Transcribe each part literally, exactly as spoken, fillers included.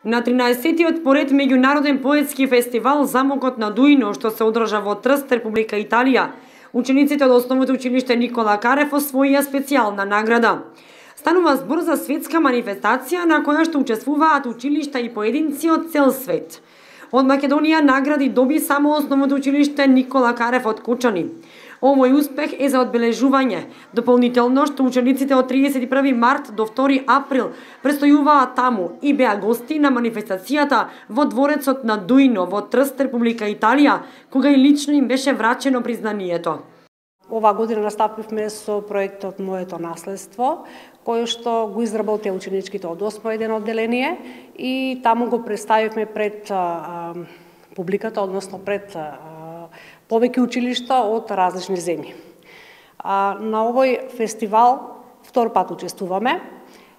На тринаесеттиот поред меѓународен поетски фестивал Замокот на Дуино, што се одржа во Трст, Република Италија, учениците од Основното училиште Никола Карев освоија специјална награда. Станува збор за светска манифестација на која што учествуваат училишта и поединци од цел свет. Од Македонија награди доби само Основното училиште Никола Карев од Кочани. Овој успех е за одбележување. Дополнително што учениците од триесет и први март до втори април престојуваат таму и беа гости на манифестацијата во дворецот на Дуино во Трст, Република Италија, кога и лично им беше врачено признанието. Ова година настапивме со проектот Моето наследство, кој што го изработија ученичките од осмо еден одделение и таму го представивме пред а, а, публиката, односно пред а, повеќе училишта од различни земји. А, на овој фестивал втор пат учествуваме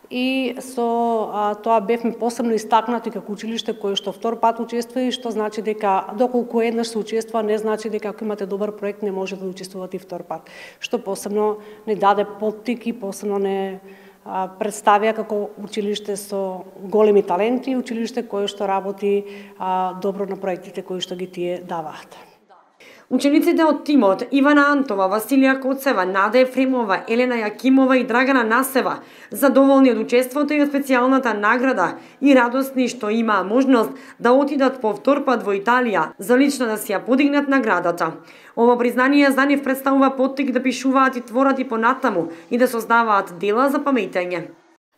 и со а, тоа бевме посебно истакнати како училиште кое што втор пат учествува и што значи дека доколку еднаш се учествува не значи дека ако имате добар проект не може да учествувате и втор пат. Што посебно не даде поттик и посебно не а, представија како училиште со големи таленти, училиште кое што работи а, добро на проектите кои што ги тие даваат. Учениците од тимот Ивана Антова, Василија Коцева, Нада Ефремова, Елена Јакимова и Драгана Насева задоволни од учеството и од специјалната награда и радосни што имаа можност да отидат по втор пат во Италија за лично да си ја подигнат наградата. Ова признание за нив представува поттик да пишуваат и творат и понатаму и да создаваат дела за памейтење.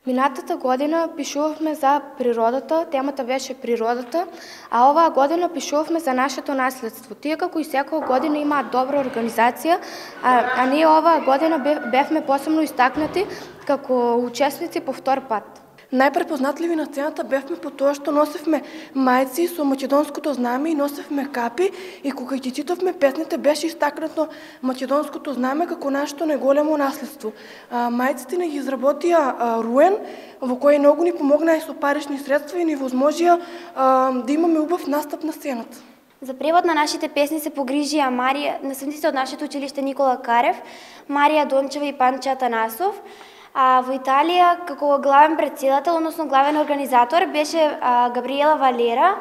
Минатата година пишувавме за природата, темата беше природата, а оваа година пишувавме за нашето наследство. Тие како и секоја година имаат добра организација, а, а ние оваа година бевме посебно истакнати како учесници по втор пат. Најпрепознатливи на сцената бевме по тоа што носевме мајци со македонското знаме и носевме капи и кога ги читавме песните беше истакнато македонското знаме како нашето најголемо наследство. А, мајците не ги изработија а, Руен, во кој многу ни помогнаа и со парични средства и ни возможија а, да имаме убав настап на сцената. За превод на нашите песни се погрижија Марија, наследниците од нашето училиште Никола Карев, Марија Дончева и Панче Атанасов. А во Италија, како главен председател, односно главен организатор, беше а, Габриела Валера,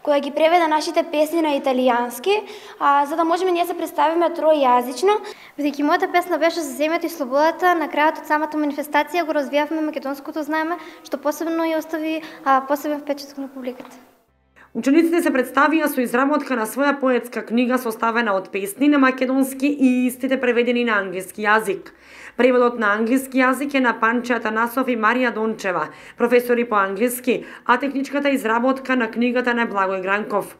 која ги преведе нашите песни на италијански, а, за да можеме ние се представиме тројазично. Бидејќи мојата песна беше за земјата и слободата, на крајот од самата манифестација го развијавме македонското знаме, што посебно ја остави а, посебен впечаток на публиката. Учениците се представија со изработка на своја поетска книга составена од песни на македонски и истите преведени на англиски јазик. Преводот на англиски јазик е на Панче Атанасов и Марија Дончева, професори по англиски, а техничката изработка на книгата на Благој Гранков.